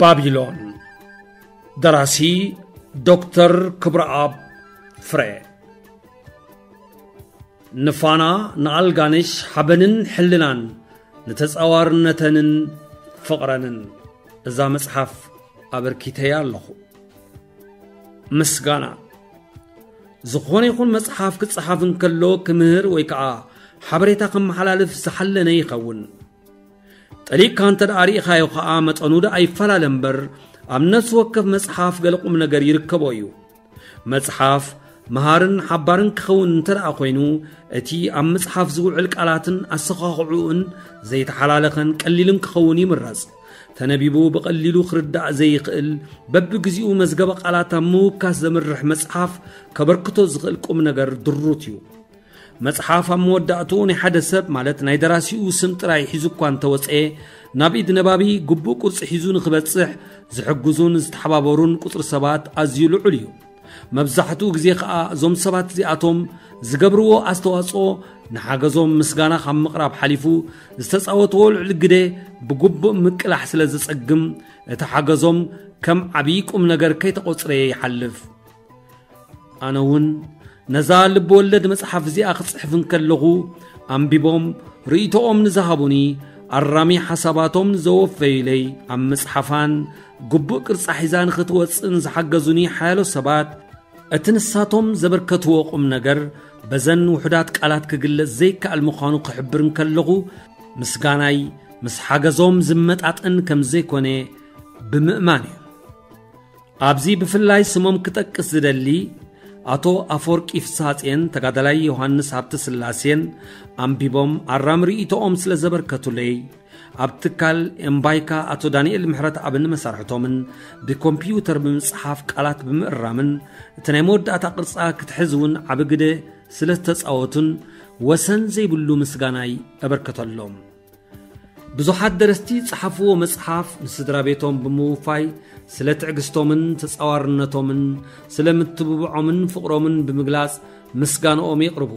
ባቢሎን። ደራሲ ዶክተር ክብረኣብ ፍረ። ንፋና ንኣልጋነሽ ሓበንን ሕልናን ንተጻዋርነተንን ፍቕረንን እዛ መጽሓፍ ኣበርኪተያ ኣለኹ። ምስጋና። ዝኾነ ይኹን መጽሓፍ ክጸሓፍ እንከሎ ክምህር ወይ ከኣ ሓበሬታ ከመሓላልፍ ዝሓለነ ይኸውን። ጠሊቕካ እንተ ደኣ ርኢኻዮ ኸኣ መጠኑ ደኣ ይፈላለ እምበር፣ ኣብ ነፍሲ ወከፍ መጽሓፍ ገለ ቁም ነገር ይርከቦ እዩ። መጽሓፍ መሃርን ሓባርን ክኸውን እንተ ደኣ ኮይኑ፣ እቲ ኣብ መጽሓፍ ዝውዕል ቃላትን ኣሰኻኽዕኡን ዘይተሓላለኸን ቀሊልን ክኸውን ይምረጽ። ተነቢቡ ብቐሊሉ ክርዳእ ዘይኽእል፣ በብግዚኡ መዝገበ ቃላት ኣብ ምውካስ ዘምርሕ መጽሓፍ ከበርክቶ ዝኽእል ቁም ነገር ድሩት እዩ። መጽሓፍ ኣብ መወዳእትኡ ናይ ሓደ ሰብ፣ ማለት ናይ ደራሲኡ ስም ጥራይ ሒዙ እኳ እንተወጸ፣ ናብ ኢድ ነባቢ ግቡእ ቅርጺ ሒዙ ንኽበጽሕ ዝሕግዙን ዝተሓባበሩን ቁጽሪ ሰባት ኣዝዩ ልዑል እዩ። መብዛሕትኡ ግዜ ኸኣ እዞም ሰባት እዚኣቶም ዝገብርዎ ኣስተዋጽኦ ንሓገዞም ምስጋና ካብ ምቕራብ ሓሊፉ ዝተጻወትዎ ልዑል ግደ ብግቡእ ምቅላሕ ስለ ዘጸግም፣ እቲ ሓገዞም ከም ዓብዪ ቁም ነገር ከይተቖጽረ ይሓልፍ። ኣነ እውን ነዛ ልብ ወለድ መጽሓፍ እዚኣ ክጽሕፍ እንከለኹ፣ ኣንቢቦም ርእይቶኦም ንዝሃቡኒ፣ ኣራሚ ሓሳባቶም ንዘወፈዩለይ፣ ኣብ ምጽሓፋን ግቡእ ቅርጻ ሒዛ ንኽትወጽእን ዝሓገዙኒ ሓያሎ ሰባት፣ እቲ ንሳቶም ዘበርከትዎ ቁም ነገር በዘን ውሑዳት ቃላት ክግለጽ ዘይከኣል ምዃኑ ክሕብር እንከለኹ፣ ምስጋናይ ምስ ሓገዞም ዝመጣጠን ከም ዘይኮነ ብምእማን እዩ። ኣብዚ ብፍላይ ስሞም ክጠቅስ ዝደሊ፣ ኣቶ ኣፈወርቂ ፍስሃጽየን ተጋዳላይ ዮሃንስ ሃብተስላሴን ኣንቢቦም ኣራሚ ርእይቶኦም ስለ ዘበርከቱለይ፣ ኣብ ትካል ኤምባይካ ኣቶ ዳንኤል ምሕረተኣብን መሳርሕቶምን ብኮምፒውተር ብምጽሓፍ ቃላት ብምእራምን እቲ ናይ መወዳእታ ቅርጻ ክትሕዝ እውን ዓቢ ግደ ስለ ዝተጻወቱን ወሰን ዘይብሉ ምስጋናይ እበርከተሎም። ብዙሓት ደረስቲ ዝጸሓፍዎ መጽሓፍ ንስድራ ቤቶም ብምውፋይ ስለ ትዕግስቶምን ተጻዋርነቶምን ስለ ምትብብዖምን ፍቕሮምን ብምግላጽ ምስጋንኦም የቕርቡ።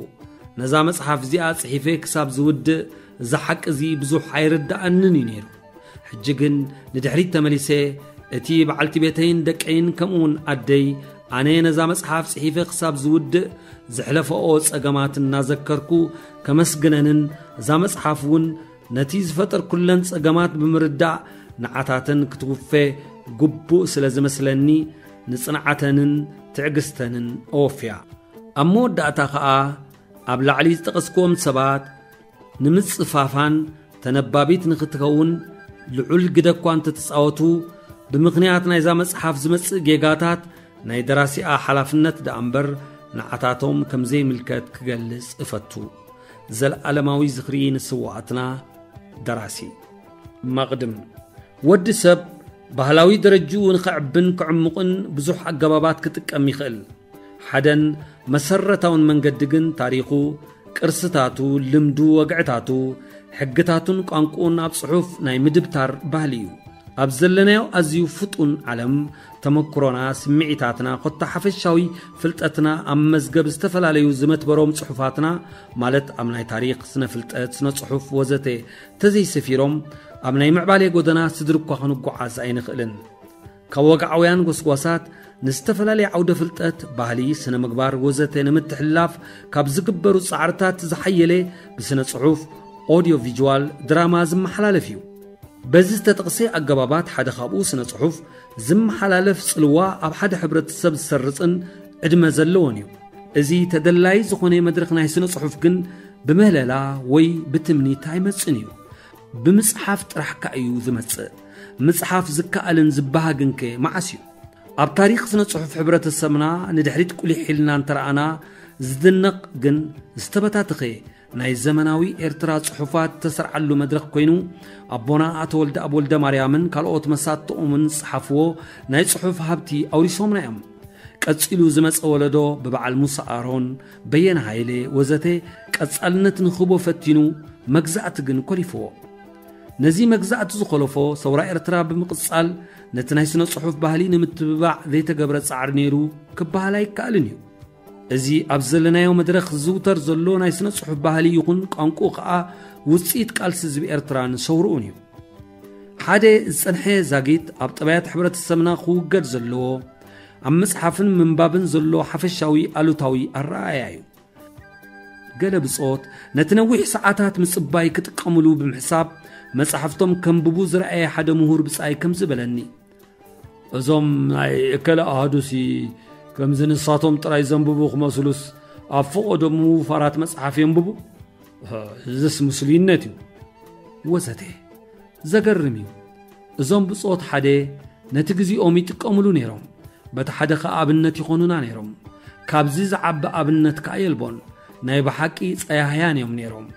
ነዛ መጽሓፍ እዚኣ ጽሒፈ ክሳብ ዝውድእ እዚ ሓቂ እዚ ብዙሕ ኣይርድኣንን እዩ ነይሩ። ሕጂ ግን ንድሕሪት ተመሊሰ እቲ በዓልቲ ቤተይን ደቀይን ከምኡውን ኣደይ ኣነ ነዛ መጽሓፍ ጽሒፈ ክሳብ ዝውድእ ዘሕለፈኦ ጸገማት እናዘከርኩ ከመስግነንን እዛ መጽሓፍ እውን ነቲ ዝፈጠርኩለን ጸገማት ብምርዳእ ንዓታተን ክትውፈ ግቡእ ስለ ዝመስለኒ ንጽንዓተንን ትዕግስተንን እወፍያ። ኣብ መወዳእታ ኸኣ ኣብ ላዕሊ ዝጠቐስክዎም ሰባት ንምጽፋፋን ተነባቢት ንኽትከውን ልዑል ግደ እኳ እንተተጻወቱ፣ ብምኽንያት ናይዛ መጽሓፍ ዝመጽእ ጌጋታት ናይ ደራሲኣ ሓላፍነት ደኣ እምበር ንዓታቶም ከም ዘይምልከት ክገልጽ እፈቱ። ዘለኣለማዊ ዝኽሪ ንስውኣትና። ደራሲ። መቕድም። ወዲ ሰብ ባህላዊ ደረጅኡ ንኸዕብን ክዕሙቕን ብዙሕ ኣገባባት ክጥቀም ይኽእል። ሓደን መሰረታውን መንገዲ ግን ታሪኹ፣ ቅርስታቱ፣ ልምዱ፣ ወግዕታቱ፣ ሕግታቱን ቋንቋኡን ኣብ ጽሑፍ ናይ ምድብታር ባህሊ እዩ። ኣብ ዘለናዮ ኣዝዩ ፍጡን ዓለም፣ ተመክሮና፣ ስምዒታትና፣ ኮታ ሓፈሻዊ ፍልጠትና ኣብ መዝገብ ዝተፈላለዩ ዝመትበሮም ጽሑፋትና፣ ማለት ኣብ ናይ ታሪኽ፣ ስነ ፍልጠት፣ ስነ ጽሑፍ ወዘተ ተዘይሰፊሮም፣ ኣብ ናይ ምዕባሌ ጎደና ስድሪ እኳ ክንጓዓዝ ኣይንኽእልን። ካብ ወግዓውያን ጎስጓሳት ንዝተፈላለየ ዓውደ ፍልጠት፣ ባህሊ፣ ስነ ምግባር ወዘተ ንምትሕልላፍ ካብ ዝግበሩ ጻዕርታት ዝሓየለ ብስነ ጽሑፍ፣ ኦዲዮ ቪዥዋል፣ ድራማ ዝመሓላለፍ እዩ። በዚ ዝተጠቕሰ ኣገባባት ሓደ ካብኡ ስነ ጽሑፍ ዝመሓላለፍ ጽልዋ ኣብ ሓደ ሕብረተሰብ ዝሰርጽን ዕድመ ዘለዎን እዩ። እዚ ተደላይ ዝኾነ መድረኽ ናይ ስነ ጽሑፍ ግን ብምህለላ ወይ ብትምኒት ኣይመጽእን እዩ። ብምጽሓፍ ጥራሕካ እዩ ዝመጽእ። ምጽሓፍ ዝከኣልን ዝበሃግንከ መዓስ እዩ? ኣብ ታሪኽ ስነ ጽሑፍ ሕብረተሰብና ንድሕሪት ቁሊሕ ኢልና እንተረኣና ዝድነቕ ግን ዝተበታተኸ ናይ ዘመናዊ ኤርትራ ጽሑፋት ተሰርዓሉ መድረኽ ኮይኑ፣ ኣቦና ኣቶ ወልደኣብ ወልደማርያምን ካልኦት መሳጥኦምን ዝጸሓፍዎ ናይ ጽሑፍ ሃብቲ ኣውሪሶምና እዮም። ቀጺሉ ዝመጸ ወለዶ ብበዓል ሙሳ ኣሮን፣ በየነ ሃይለ ወዘተ ቀጻልነት ንኽህቦ ፈቲኑ መግዛእቲ ግን ኮሊፍዎ። ነዚ መግዛእቲ ዝኾለፎ ሰውራ ኤርትራ ብምቕጻል ነቲ ናይ ስነ ጽሑፍ ባህሊ ንምትብባዕ ዘይተገብረ ጻዕሪ ነይሩ ክበሃል ኣይከኣልን እዩ። እዚ ኣብ ዘለናዮ መድረኽ ዝዝውተር ዘሎ ናይ ስነ ጽሑፍ ባህሊ ይኹን ቋንቋኡ ከኣ ውጽኢት ቃልሲ ህዝቢ ኤርትራን ሰውርኡን እዩ። ሓደ ዝጸንሐ ዛጊት ኣብ ጠባያት ሕብረተሰብና ክውገድ ዘለዎ፣ ኣብ ምጽሓፍን ምንባብን ዘሎ ሓፈሻዊ ኣሉታዊ ኣረኣእያ እዩ። ገለ ብጾት ነቲ ነዊሕ ሰዓታት ምጽባይ ክጥቀምሉ ብምሕሳብ፣ መጻሕፍቶም ከንብቡ ዝረኣየ ሓደ ምሁር ብጻይ ከምዚ በለኒ። እዞም ናይ እከለ ኣሃዱሲ ከምዚ ንሳቶም ጥራይ ዘንብቡ ክመስሉስ፣ ኣብ ፈቐዶም ምውፋራት መጽሓፍ የንብቡ? እዝስ ምስሉይነት እዩ። ወዘተ። ዘገርም እዩ። እዞም ብጾት ሓደ ነቲ ግዜኦም ይጥቀምሉ ነይሮም። በቲ ሓደ ኸኣ ኣብነት ይኾኑና ነይሮም። ካብዚ ዝዓቢ ኣብነት ከኣ የልቦን። ናይ ብሓቂ ጸያህያን እዮም ነይሮም።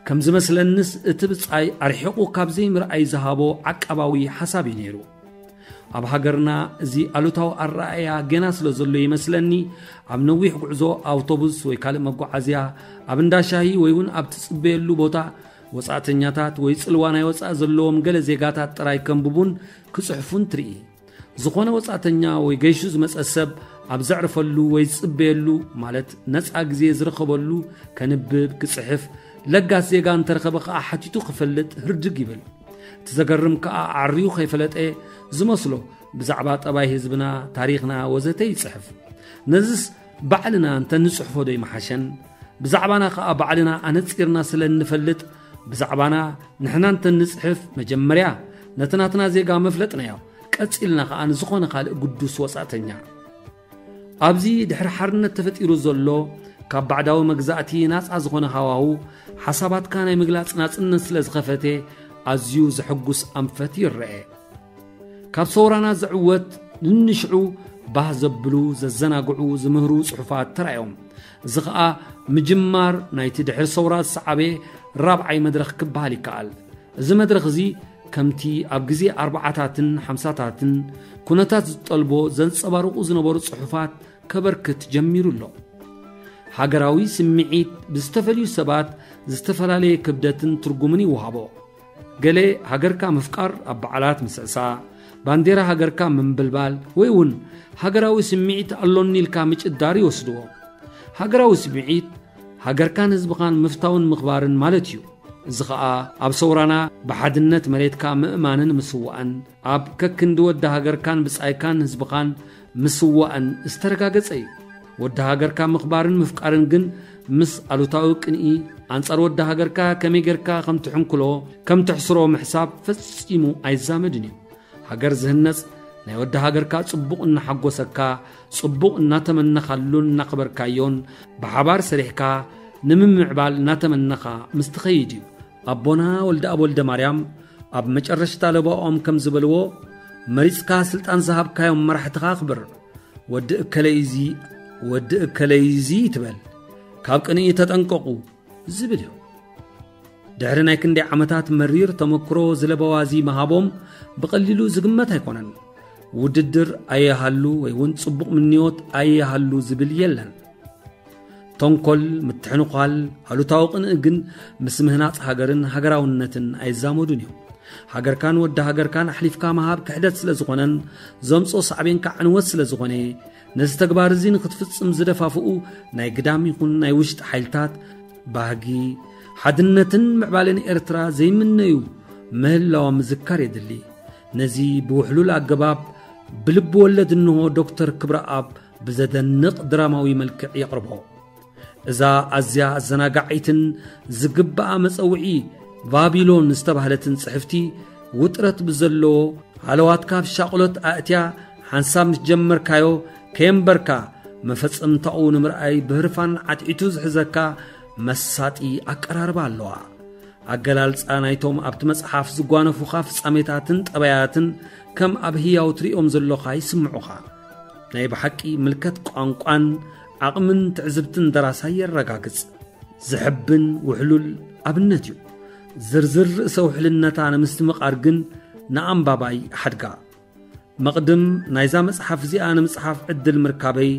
ከም ዝመስለንስ እቲ ብጻይ ኣርሒቑ ካብ ዘይምርኣይ ዝሃቦ ዓቃባዊ ሓሳብ እዩ ነይሩ። ኣብ ሃገርና እዚ ኣሉታዊ ኣረኣእያ ገና ስለ ዘሎ ይመስለኒ፣ ኣብ ነዊሕ ጉዕዞ ኣውቶቡስ ወይ ካልእ መጓዓዝያ፣ ኣብ እንዳ ሻሂ ወይ እውን ኣብ ትጽበየሉ ቦታ፣ ወጻእተኛታት ወይ ጽልዋ ናይ ወጻኢ ዘለዎም ገለ ዜጋታት ጥራይ ከንብቡን ክጽሕፉን ትርኢ። ዝኾነ ወጻእተኛ ወይ ገይሹ ዝመጸ ሰብ ኣብ ዘዕርፈሉ ወይ ዝጽበየሉ፣ ማለት ነጻ ግዜ ዝረኸበሉ፣ ከንብብ፣ ክጽሕፍ፣ ለጋስ ዜጋ እንተረኸበ ከኣ ሓቲቱ ክፈልጥ ህርድግ ይብል። እቲ ዘገርም ከኣ ዓርዩ ከይፈለጠ ዝመስሎ ብዛዕባ ጠባይ ህዝብና፣ ታሪኽና ወዘተ ይጽሕፍ። ነዝስ ባዕልና እንተ ንጽሕፎ ዶ ይመሓሸን? ብዛዕባና ከኣ ባዕልና ኣነጺርና ስለ እንፈልጥ፣ ብዛዕባና ንሕና እንተ ንጽሕፍ መጀመርያ ነቲ ናትና ዜጋ መፍለጥናዮ፣ ቀጺልና ከኣ ንዝኾነ ካልእ ግዱስ ወጻእተኛ። ኣብዚ ድሕሪ ሓርነት ተፈጢሩ ዘሎ ካብ ባዕዳዊ መግዛእቲ ናጻ ዝኾነ ሃዋሁ፣ ሓሳባትካ ናይ ምግላጽ ናጽነት ስለ ዝኸፈተ፣ ኣዝዩ ዘሐጉስ ኣንፈት ይረኤ። ካብ ሰውራና ዝዕወት ንንሽዑ ባህ ዘብሉ፣ ዘዘናግዑ፣ ዝምህሩ ጽሑፋት ተራእዮም። እዚ ኸኣ ምጅማር ናይቲ ድሕሪ ሰውራ ዝሰዓበ ራብዓይ መድረኽ ክበሃል ይከኣል። እዚ መድረኽ እዚ ከምቲ ኣብ ግዜ ኣርብዓታትን ሓምሳታትን ኩነታት ዝጠልቦ ዘንጸባርቑ ዝነበሩ ጽሑፋት ከበርክት ጀሚሩ ኣሎ። ሃገራዊ ስምዒት ብዝተፈልዩ ሰባት ዝተፈላለየ ክብደትን ትርጉምን ይወሃቦ። ገለ ሃገርካ ምፍቃር ኣብ በዓላት ምስዕሳዕ፣ ባንዴራ ሃገርካ ምንብልባል ወይ እውን ሃገራዊ ስምዒት ኣሎኒ ኢልካ ምጭዳር ይወስድዎ። ሃገራዊ ስምዒት ሃገርካን ህዝብኻን ምፍታውን ምኽባርን ማለት እዩ። እዚ ኸኣ ኣብ ሰውራና ብሓድነት መሬትካ ምእማንን ምስዋእን፣ ኣብ ከክንዲ ወዲ ሃገርካን ብጻይካን ህዝብኻን ምስዋእን ዝተረጋገጸ እዩ። ወዲ ሃገርካ ምኽባርን ምፍቃርን ግን ምስ ኣሉታዊ ቅንኢ፣ ኣንጻር ወዲ ሃገርካ ከመይ ጌርካ ከም ትሕንክሎ፣ ከም ትሕስሮ ምሕሳብ ፈጺሙ ኣይዛመድን እዩ። ሃገር ዝህነጽ ናይ ወዲ ሃገርካ ጽቡቕ እናሓጎሰካ፣ ጽቡቕ እናተመነኻሉን እናኽበርካዮን፣ ብሓባር ሰሪሕካ ንምምዕባል እናተመነኻ ምስ ትኸይድ እዩ። ኣቦና ወልደኣብ ወልደማርያም ኣብ መጨረሽታ ለበዋኦም ከም ዝበልዎ፣ መሪጽካ ስልጣን ዝሃብካዮም መራሕትኻ ኣኽብር። ወዲ እከለይ እዚ፣ ወዲ እከለይ እዚ ትበል። ካብ ቅንኢ ተጠንቀቑ ዝብል እዩ። ድሕሪ ናይ ክንደይ ዓመታት መሪር ተመክሮ ዝለበዋ እዚ ምሃቦም ብቐሊሉ ዝግመት ኣይኮነን። ውድድር ኣየሃሉ ወይ እውን ጽቡቕ ምንዮት ኣየሃሉ ዝብል የለን። ተንኮል፣ ምትሕንዃል፣ ኣሉታዊ ቅንኢ ግን ምስ ምህናጽ ሃገርን ሃገራውነትን ኣይዛመዱን እዮም። ሃገርካን ወዲ ሃገርካን ኣሕሊፍካ ምሃብ ክሕደት ስለ ዝኾነን ዘምጽኦ ሳዕቤን ከኣ ዕንወት ስለ ዝኾነ፣ ነዚ ተግባር እዚ ንክትፍጽም ዝደፋፍኡ ናይ ግዳም ይኹን ናይ ውሽጢ ሓይልታት፣ ባህጊ፣ ሓድነትን ምዕባለን ኤርትራ ዘይምነዩ ምህላዎም ምዝካር የድሊ። ነዚ ብውሕሉል ኣገባብ ብልቢ ወለድ እንሆ ዶክተር ክብረኣብ ብዘደንቕ ድራማዊ መልክዕ የቕርቦ። እዛ ኣዝያ ኣዘናጋዒትን ዝግብኣ መጸውዒ ባቢሎን ዝተባህለትን ጽሕፍቲ፣ ውጥረት ብዘለዎ ሃለዋትካ ኣብ ሻቕሎት ኣእትያ፣ ሓንሳብ ምስ ጀመርካዮ ከየንበርካ መፈጸምታኡ ንምርኣይ ብህርፋን ዓትዒቱ ዝሕዘካ መሳጢ ኣቀራርባ ኣለዋ። ኣገላልጻ ናይቶም ኣብቲ መጽሓፍ ዝጓነፉኻ ፍጻሜታትን ጠባያትን ከም ኣብ ህያው ትርእዮም ዘሎኻ ይስምዑኻ። ናይ ብሓቂ ምልከት ቋንቋን ዓቕምን ትዕዝብትን ደራሳይ የረጋግጽ። ዘሕብን ውሕሉል ኣብነት እዩ። ዝርዝር ርእሰ ውሕልነታ ንምስትምቓር ግን ንኣንባባይ ሓድጋ። መቕድም ናይዛ መጽሓፍ እዚኣ ንምጽሓፍ ዕድል ምርካበይ፣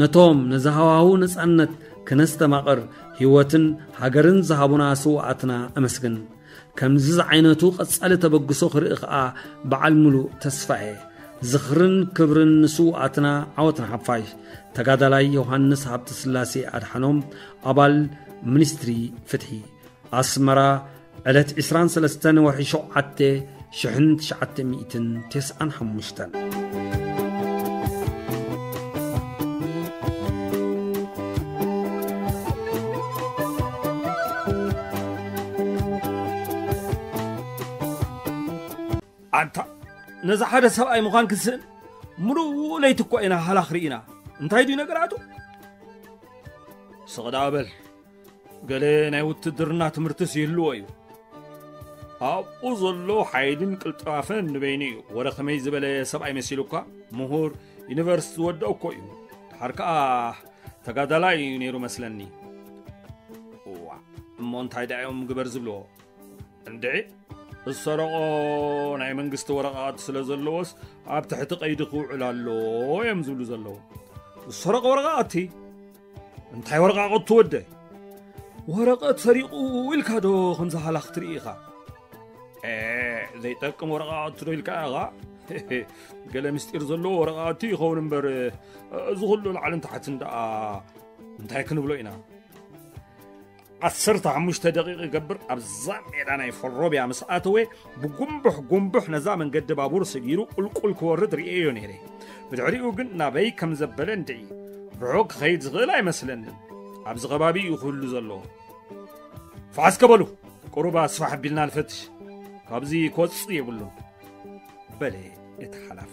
ነቶም ነዚ ሃዋህው ነጻነት ክነስተማቕር ህይወትን ሃገርን ዝሃቡና ስውኣትና እመስግን። ከምዚ ዝዓይነቱ ቀጻሊ ተበግሶ ክርኢ ኸኣ በዓል ምሉእ ተስፋ እየ። ዝኽርን ክብርን ንስውኣትና፣ ዓወት ንሓፋሽ። ተጋዳላይ ዮሃንስ ሃብተስላሴ ኣድሓኖም፣ ኣባል ሚኒስትሪ ፍትሒ። ኣስመራ፣ ዕለት ዕስራን ሰለስተን ወርሒ ሸውዓተ፣ ሽሕን ትሽዓተ ሚእትን ተስዓን ሓሙሽተን። ኣንታ ነዚ ሓደ ሰብኣይ ምዃን ክስእን፣ ምሉእ ለይቲ እኮ ኢና ሃላኽ ርኢና። እንታይ ድዩ ነገራቱ? ስቕ ደኣ በል። ገለ ናይ ውትድርና ትምህርትስ ይህልዎ እዩ። ኣብኡ ዘሎ ሓይልን ቅልጣፈን ንበይኑ እዩ። ወረ ከመይ ዝበለ ሰብኣይ መሲሉካ? ምሁር፣ ዩኒቨርሲቲ ዝወደኦ እኮ እዩ። ድሓር ከኣ ተጋዳላይ እዩ ነይሩ መስለኒ። እዋ፣ እሞ እንታይ ደኣ እዮም ግበር ዝብልዎ? እንድዒ፣ ዝሰረቖ ናይ መንግስቲ ወረቓቕቲ ስለ ዘለዎስ ኣብ ትሕቲ ቀይዲ ክውዕል ኣለዎ እዮም ዝብሉ ዘለዉ። ዝሰረቐ ወረቓቕቲ? እንታይ ወረቓቕቲ ወደይ? ወረቐት ሰሪቑ ኢልካ ዶ ከምዚ ሃላኽ ትርኢ ኢኻ? ኤ፣ ዘይጠቅም ወረቓቕቲ ዶ ኢልካ ኢኻ? ገለ ምስጢር ዘለዎ ወረቓቕቲ ይኸውን እምበር፣ እዚ ኩሉ ላዕልን ታሕትን ደኣ እንታይ ክንብሎ ኢና? ዓሰርተ ሓሙሽተ ደቂቕ ይገብር ኣብዛ ሜዳ ናይ ፈሮብያ ምስ ኣተወ፣ ብጉንቡሕ ጉንቡሕ ነዛ መንገዲ ባቡር ስጊሩ ቁልቁል ክወርድ ርእየዮ ነይረ። ብድሕሪኡ ግን ናበይ ከም ዘበለ እንድዒ፣ ርሑቕ ክኸይድ ዝኽእል ኣይመስለንን። ኣብዚ ከባቢ እዩ ክህሉ ዘለዎ። ፋሕስ ከበሉ፣ ቁሩብ ኣስፋሕ ኣቢልና ንፈትሽ። ካብዚ ክወጽእ የብሉን። በለ እቲ ሓላፊ።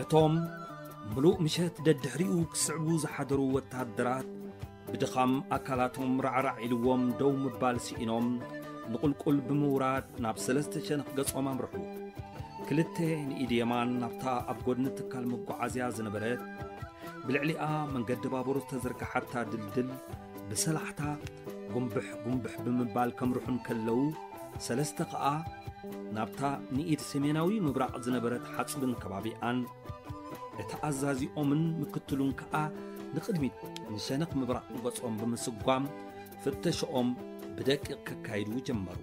እቶም ምሉእ ምሸት ደድሕሪኡ ክስዕቡ ዝሓደሩ ወተሃደራት፣ ብድኻም ኣካላቶም ራዕራዕ ኢልዎም ደው ምባል ስኢኖም፣ ንቑልቁል ብምውራድ ናብ ሰለስተ ሸነኽ ገጾም ኣምርሑ። ክልተ ንኢድ የማን ናብታ ኣብ ጎድኒ ትካል መጓዓዝያ ዝነበረት፣ ብልዕሊኣ መንገዲ ባቡር ዝተዘርግሓታ ድልድል ብሰላሕታ ጉንብሕ ጉንብሕ ብምባል ከምርሑ እንከለዉ፣ ሰለስተ ከኣ ናብታ ንኢድ ሰሜናዊ ምብራቕ ዝነበረት ሓጽብን ከባቢኣን፣ እቲ ኣዛዚኦምን ምክትሉን ከኣ ንቕድሚት ንሸነኽ ምብራቕ ገጾም ብምስጓም ፍተሽኦም ብደቂቕ ከካይዱ ጀመሩ።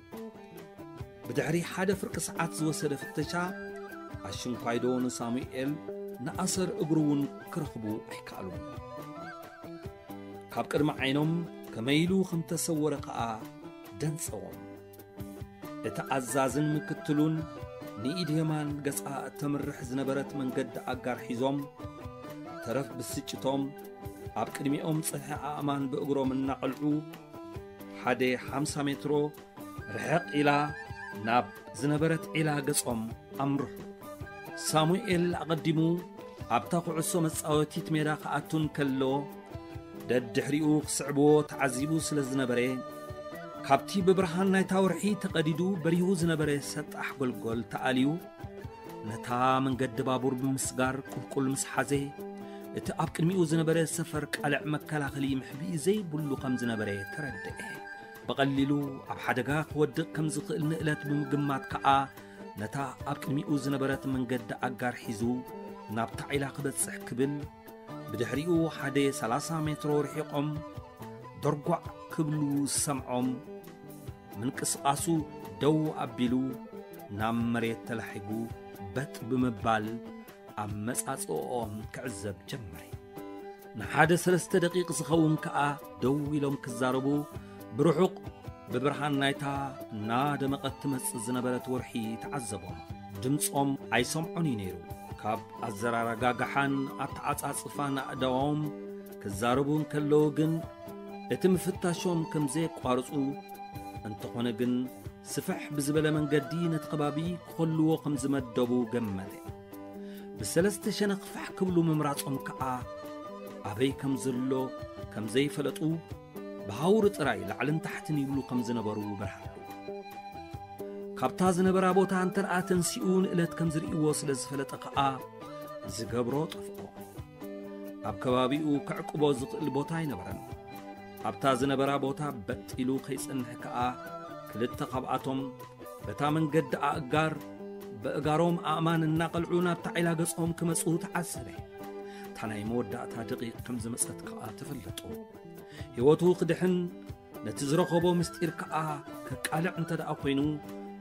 ብድሕሪ ሓደ ፍርቂ ሰዓት ዝወሰደ ፍተሻ፣ ኣሽንኳይዶ ንሳሙኤል ንኣሰር እግሩ እውን ክረኽቡ ኣይከኣሉን። ካብ ቅድሚ ዓይኖም ከመይ ኢሉ ከም ተሰወረ ከኣ ደንጸዎም። እቲ ኣዛዝን ምክትሉን ንኢድ የማን ገጻ እተምርሕ ዝነበረት መንገዲ ኣጋር ሒዞም፣ ተረፍ ብስጭቶም ኣብ ቅድሚኦም ጸንሐ ኣእማን ብእግሮም እናቐልዑ፣ ሓደ ሓምሳ ሜትሮ ርሕቕ ኢላ ናብ ዝነበረት ዒላ ገጾም ኣምርሑ። ሳሙኤል ኣቐዲሙ ኣብታ ኩዕሶ መጻወቲት ሜዳ ክኣቱ እንከሎ፣ ደድሕሪኡ ክስዕብዎ ተዓዚቡ ስለ ዝነበረ፣ ካብቲ ብብርሃን ናይታ ወርሒ ተቐዲዱ በሪሁ ዝነበረ ሰጣሕ ጎልጎል ተኣልዩ፣ ነታ መንገዲ ባቡር ብምስጋር ቁልቁል ምስ ሓዘ፣ እቲ ኣብ ቅድሚኡ ዝነበረ ሰፈር ቃልዕ መከላኸሊ መሕብኢ ዘይብሉ ከም ዝነበረ ተረድአ። ብቐሊሉ ኣብ ሓደጋ ክወድቕ ከም ዝኽእል ንእለት ብምግማት ከኣ፣ ነታ ኣብ ቅድሚኡ ዝነበረት መንገዲ ኣጋር ሒዙ ናብታ ዒላ ክበጽሕ ክብል፣ ብድሕሪኡ ሓደ ሰላሳ ሜትሮ ርሒቖም ደርጓዕ ክብሉ ዝሰምዖም፣ ምንቅስቓሱ ደው ኣቢሉ ናብ መሬት ተላሒጉ በጥ ብምባል ኣመጻጽእኦም ክዕዘብ ጀመረ። ንሓደ ሰለስተ ደቂቕ ዝኸውን ከኣ ደው ኢሎም ክዛረቡ፣ ብርሑቕ ብብርሃን ናይታ እናደመቐት ትመጽእ ዝነበረት ወርሒ ተዓዘቦም። ድምጾም ኣይሰምዖን እዩ ነይሩ። ካብ ኣዘራርጋግሓን ኣተዓጻጽፋን ኣእዳዎም ክዛረቡ እንከለዉ ግን፣ እቲ ምፍታሾም ከም ዘየቋርጹ፣ እንተኾነ ግን ስፍሕ ብዝበለ መንገዲ ነቲ ከባቢ ክኸልዎ ከም ዝመደቡ ገመተ። ብሰለስተ ሸነኽ ፋሕ ክብሉ ምምራጾም ከኣ፣ ኣበይ ከም ዘሎ ከም ዘይፈለጡ፣ ብሃውሪ ጥራይ ላዕልን ታሕትን ይብሉ ከም ዝነበሩ በርሃሉ። ካብታ ዝነበራ ቦታ እንተ ደኣ ተንሲኡ ንእለት ከም ዝርእይዎ ስለ ዝፈለጠ ከኣ፣ ዝገብሮ ጠፍኦ። ኣብ ከባቢኡ ከዕቅቦ ዝኽእል ቦታ ኣይነበረን። ኣብታ ዝነበራ ቦታ በጥ ኢሉ ከይጸንሕ ከኣ፣ ክልተ ካብኣቶም በታ መንገዲ ኣእጋር፣ በእጋሮም ኣእማን እናቐልዑ ናብታ ዒላ ገጾም ክመጹ ተዓዘበ። እታ ናይ መወዳእታ ደቂቕ ከም ዝመጸት ከኣ ተፈለጦ። ህይወቱ ክድሕን፣ ነቲ ዝረኸቦ ምስጢር ከኣ ከቃልዕ እንተ ደኣ ኮይኑ፣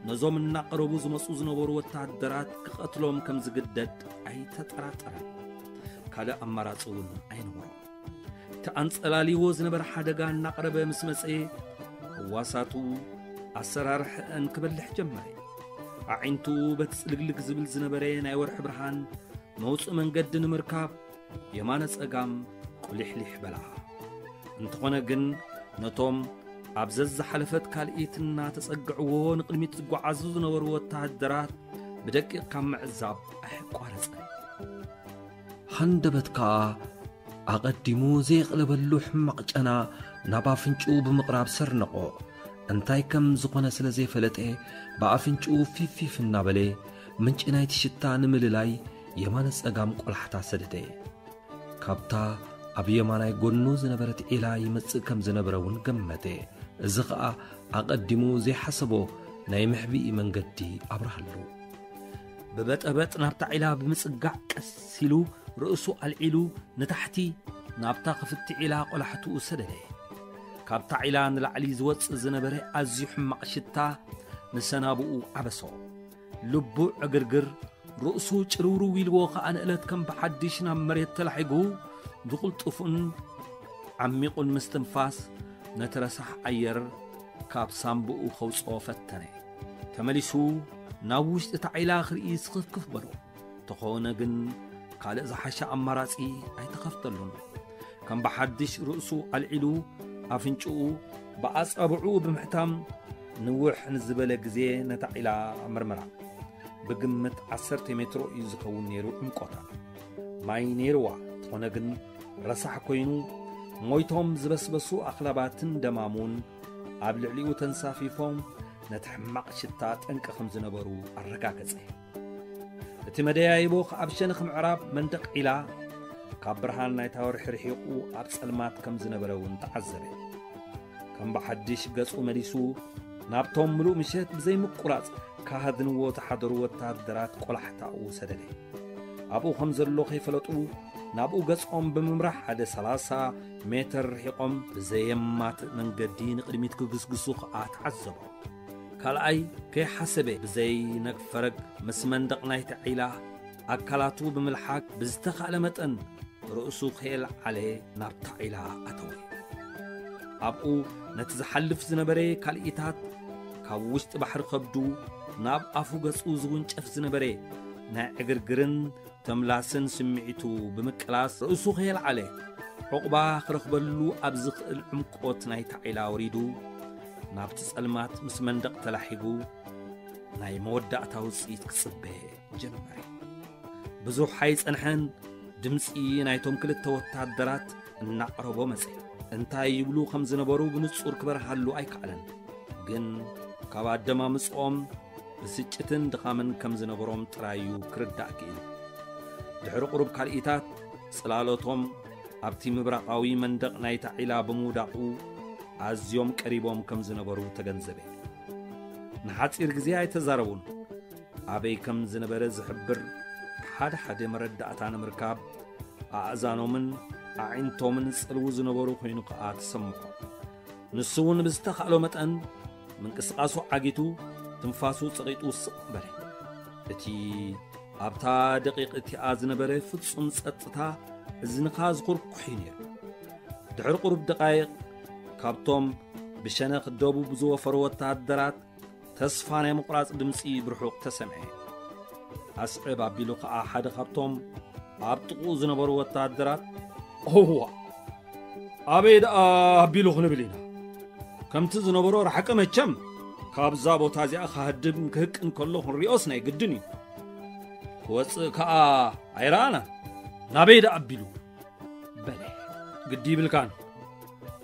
ነዞም እናቐረቡ ዝመጹ ዝነበሩ ወተሃደራት ክቐትሎም ከም ዝግደድ ኣይተጠራጠረን። ካልእ ኣማራጺ እውን ኣይነበሮን። እቲ ኣንጸላልይዎ ዝነበረ ሓደጋ እናቐረበ ምስ መጸ፣ ህዋሳቱ ኣሰራርሐአን ክበልሕ ጀመረ። ኣዒንቱ በቲ ጽልግልግ ዝብል ዝነበረ ናይ ወርሒ ብርሃን መውጽኢ መንገዲ ንምርካብ የማነ ጸጋም ቁሊሕሊሕ በላ። እንተኾነ ግን ነቶም ኣብ ዘዝሓለፈት ካልኢት እናተጸግዕዎ ንቕድሚት ዝጓዓዙ ዝነበሩ ወተሃደራት ብደቂቕ ካብ ምዕዛብ ኣየቋረጸን። ሃንደበት ከኣ ኣቐዲሙ ዘየቕለበሉ ሕማቕ ጨና ናብ ኣፍንጭኡ ብምቕራብ ሰርነቖ። እንታይ ከም ዝኾነ ስለ ዘይፈለጠ ብኣፍንጭኡ ፊፊፍ እናበለ ምንጪ ናይቲ ሽታ ንምልላይ የማነ ጸጋም ቆላሕታ ሰደደ። ካብታ ኣብ የማናይ ጎኑ ዝነበረት ዒላ ይመጽእ ከም ዝነበረ እውን ገመተ። እዚ ኸኣ ኣቐዲሙ ዘይሓሰቦ ናይ መሕብኢ መንገዲ ኣብርሃሉ። ብበጠበጥ ናብታ ዒላ ብምጽጋዕ ቀስ ኢሉ ርእሱ ኣልዒሉ ንታሕቲ ናብታ ክፍቲ ዒላ ቆላሕትኡ ሰደደ። ካብታ ዒላ ንላዕሊ ዝወጽእ ዝነበረ ኣዝዩ ሕማቕ ሽታ ንሰናብኡ ዓበሶ። ልቡ ዕግርግር፣ ርእሱ ጭርውርው ኢልዎ ኸኣ ንእለት ከም ብሓድሽ ናብ መሬት ተላሒጉ ብቕልጡፍን ዓሚቑን ምስትንፋስ ነቲ ረሳሕ ኣየር ካብ ሳምብኡ ከውጽኦ ፈተነ። ተመሊሱ ናብ ውሽጢ እታ ዒላ ክርኢ ስኽፍክፍ በሎ። ተኾነ ግን ካልእ ዝሓሸ ኣማራጺ ኣይተኸፍተሉን። ከም ብሓድሽ ርእሱ ኣልዒሉ ኣፍንጭኡ ብኣጻብዕኡ ብምሕታም ንውሕ ንዝበለ ግዜ ነታ ዒላ መርመራ። ብግምት ዓሰርተ ሜትሮ እዩ ዝኸውን ነይሩ ዕምቆታ። ማይ ነይርዋ፣ እንተኾነ ግን ረሳሕ ኮይኑ ሞይቶም ዝበስበሱ ኣኽላባትን ደማሙን ኣብ ልዕሊኡ ተንሳፊፎም ነቲ ሕማቕ ሽታ ጠንቂ ከም ዝነበሩ ኣረጋገጸ። እቲ መደያይቦ ኣብ ሸነኽ ምዕራብ መንደቕ ዒላ ካብ ብርሃን ናይታ ወርሒ ርሒቑ ኣብ ጸልማት ከም ዝነበረ እውን ተዓዘበ። ከም ብሓድሽ ገጹ መሊሱ ናብቶም ምሉእ ምሸት ብዘይምቁራጽ ካሃድንዎ ዝሓደሩ ወተሃደራት ቆላሕታኡ ሰደደ። ኣብኡ ከም ዘሎ ከይፈለጡ ናብኡ ገጾም ብምምራሕ ሓደ ሰላሳ ሜትር ርሒቖም ብዘየማትእ መንገዲ ንቕድሚት ክግስግሱ ኸኣ ተዓዘቦ። ካልኣይ ከይሓሰበ ብዘይ ነግፈረግ ምስ መንደቕ ናይቲ ዒላ ኣካላቱ ብምልሓግ ብዝተኻእለ መጠን ርእሱ ከየልዓለ ናብታ ዒላ ኣተወ። ኣብኡ ነቲ ዝሓልፍ ዝነበረ ካልኢታት ካብ ውሽጢ ባሕሪ ከብዱ ናብ ኣፉ ገጹ ዝውንጨፍ ዝነበረ ናይ ዕግርግርን ተምላስን ስምዒቱ ብምቅላስ ርእሱ ከየልዓለ ዑቕባ ክረኽበሉ ኣብ ዝኽእል ዕምቆት ናይታ ዒላ ወሪዱ ናብቲ ጸልማት ምስ መንደቕ ተላሒጉ ናይ መወዳእታ ውጽኢት ክጽበ ጀመረ። ብዙሕ ኣይጸንሐን፣ ድምጺ ናይቶም ክልተ ወታደራት እናቕረቦ መጸ። እንታይ ይብሉ ከም ዝነበሩ ብንጹር ክበርሃሉ ኣይከኣለን። ግን ካብ ኣደማምጽኦም ብስጭትን ድኻምን ከም ዝነበሮም ጥራይ እዩ ክርዳእ ክኢሉ። ድሕሪ ቁሩብ ካልኢታት ጽላሎቶም ኣብቲ ምብራቓዊ መንደቕ ናይታ ዒላ ብምውዳቑ ኣዝዮም ቀሪቦም ከም ዝነበሩ ተገንዘበ። ንሓጺር ግዜ ኣይተዛረቡን። ኣበይ ከም ዝነበረ ዝሕብር ሓደ ሓደ መረዳእታ ንምርካብ ኣእዛኖምን ኣዒንቶምን ጸልዉ ዝነበሩ ኮይኑ ከኣ ተሰምዖ። ንሱ እውን ብዝተኻእሎ መጠን ምንቅስቓሱ ዓጊቱ ትንፋሱ ጸቒጡ ስቕ በለ። እቲ ኣብታ ደቂቕ እቲኣ ዝነበረ ፍጹም ጸጥታ እዝንኻ ዝኹርኩሕ እዩ ነይሩ። ድሕሪ ቁሩብ ደቓይቕ ካብቶም ብሸነኽ ደቡብ ዝወፈሩ ወተሃደራት ተስፋ ናይ ምቑራጽ ድምጺ ብርሑቕ ተሰምዐ። ኣስዕብ ኣቢሉ ኸኣ ሓደ ካብቶም ኣብ ጥቕኡ ዝነበሩ ወተሃደራት፣ "እዋ፣ ኣበይ ደኣ ኣቢሉ ክንብል ኢና? ከምቲ ዝነበሮ ርሓቂ መቸም፣ ካብዛ ቦታ እዚኣ ክሃድም ክህቅን ከሎ ክንሪኦስ ናይ ግድን እዩ። ክወጽእ ከኣ ኣይረኣናን። ናበይ ደኣ ኣቢሉ?" በለ። "ግዲ ይብልካን፣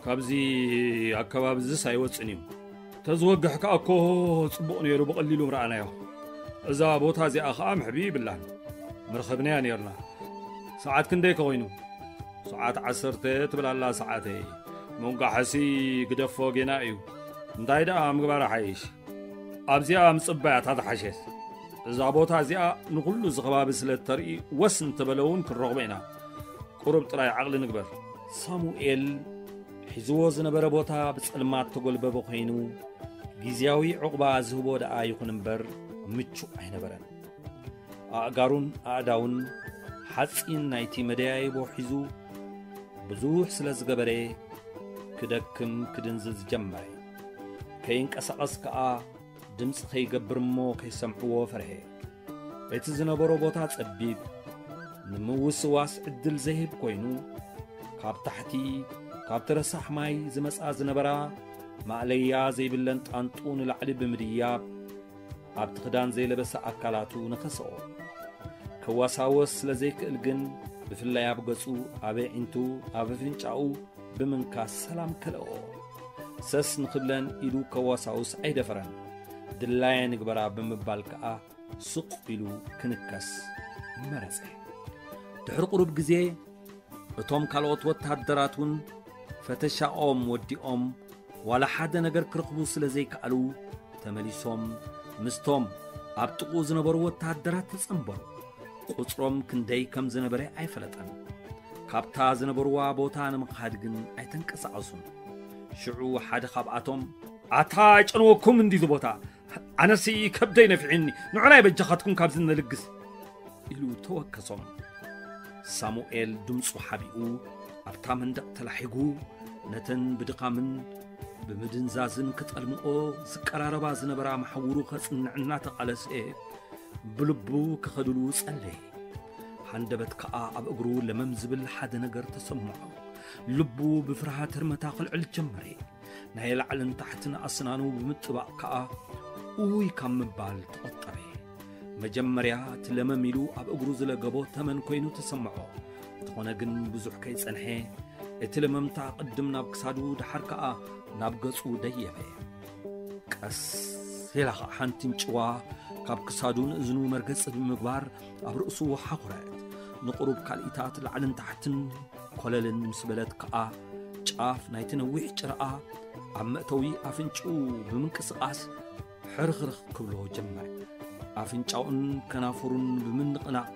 ካብዚ ኣከባቢ እዝስ ኣይወጽን እዩ። ተዝወግሕ ከኣ እኮ ጽቡቕ ነይሩ፣ ብቐሊሉ ምረኣናዮ። እዛ ቦታ እዚኣ ከኣ መሕብኢ ይብላን፣ ምረኸብናያ ነይርና። ሰዓት ክንደይ ከ ኮይኑ?" "ሰዓት ዓሰርተ ትብል ኣላ ሰዓተይ። ምንቋሕሲ ግደፎ ጌና እዩ። እንታይ ደኣ ምግባር ሓይሽ? ኣብዚኣ ምጽባያ እታ ዝሓሸት። እዛ ቦታ እዚኣ ንኹሉ እዚ ከባቢ ስለ እተርኢ ወስ እንተበለ እውን ክንረኽቦ ኢና። ቁሩብ ጥራይ ዓቕሊ ንግበር።" ሳሙኤል ሒዝዎ ዝነበረ ቦታ ብጸልማት ተጎልበበ ኮይኑ፣ ግዝያዊ ዕቑባ ዝህቦ ደኣ ይኹን እምበር ምቹእ ኣይነበረን። ኣእጋሩን ኣእዳውን ሓጺን ናይቲ መደያይቦ ሒዙ ብዙሕ ስለ ዝገበረ፣ ክደክም ክድንዝዝ ጀመረ። ከይንቀሳቐስ ከኣ ድምፂ ከይገብር እሞ ከይሰምዕዎ ፈርሔ። እቲ ዝነበሮ ቦታ ጸቢብ፣ ንምውስዋስ ዕድል ዘይህብ ኮይኑ፣ ካብ ታሕቲ ካብቲ ረሳሕ ማይ ዝመጻ ዝነበራ ማእለያ ዘይብለን ጣንጡ ንላዕሊ ብምድያብ ኣብቲ ክዳን ዘይለበሰ ኣካላቱ ነኸሰኦ። ከዋሳወስ ስለ ዘይክእል ግን፣ ብፍላይ ኣብ ገጹ፣ ኣብ ኣዒንቱ፣ ኣብ ኣፍንጫኡ ብምንካስ ሰላም ከልኦ። ሰስ ንኽብለን ኢዱ ከዋሳውስ ኣይደፈረን። ድላየ ንግበራ ብምባል ከኣ ስቕ ኢሉ ክንከስ መረጸ። ድሕሪ ቁሩብ ግዜ እቶም ካልኦት ወተሃደራት እውን ፈተሻኦም ወዲኦም ዋላ ሓደ ነገር ክረኽቡ ስለ ዘይከኣሉ ተመሊሶም ምስቶም ኣብ ጥቕኡ ዝነበሩ ወተሃደራት ተጸንበሩ። ቁጽሮም ክንደይ ከም ዝነበረ ኣይፈለጠን። ካብታ ዝነበርዋ ቦታ ንምኻድ ግን ኣይተንቀሳቐሱን። ሽዑ ሓደ ካብኣቶም ኣታ ጨንወኩም እንዲ እዚ ቦታ ኣነሲ ከብደይ ነፊዕኒ ንዑናይ በጃኻትኩም ካብዚ ነልግስ ኢሉ ተወከሶም። ሳሙኤል ድምፁ ሓቢኡ ኣብታ መንደቕ ተላሒጉ ነተን ብድኻምን ብምድንዛዝን ክጠልምኦ ዝቀራረባ ዝነበራ መሓውሩ ከጽንዕ እናተቓለሰ ብልቡ ክኸድሉ ጸለየ። ሃንደበት ከኣ ኣብ እግሩ ለመም ዝብል ሓደ ነገር ተሰምዖ። ልቡ ብፍርሃት ህርመታ ክልዕል ጀመረ። ናይ ላዕልን ታሕትን ኣስናኑ ብምጥባቕ ከኣ ኡይ ካብ ምባል ተቖጠበ። መጀመርያ እቲ ለመም ኢሉ ኣብ እግሩ ዝለገቦ ተመን ኮይኑ ተሰምዖ። እንተኾነ ግን ብዙሕ ከይጸንሐ እቲ ለመምታ ቅድም ናብ ክሳዱ ደሓር ከኣ ናብ ገጹ ደየበ። ቀስ ኢላ ኸዓ ሓንቲ እንጭዋ ካብ ክሳዱ ንእዝኑ መርገጺ ብምግባር ኣብ ርእሱ ሓኹረት። ንቑሩብ ካልኢታት ላዕልን ታሕትን ኮለልን ምስ በለት ከኣ ጫፍ ናይቲ ነዊሕ ጭራኣ ኣብ መእተዊ ኣፍንጭኡ ብምንቅስቓስ ሕርኽርኽ ክብሎ ጀመረ። ኣፍንጫኡን ከናፍሩን ብምንቕናቕ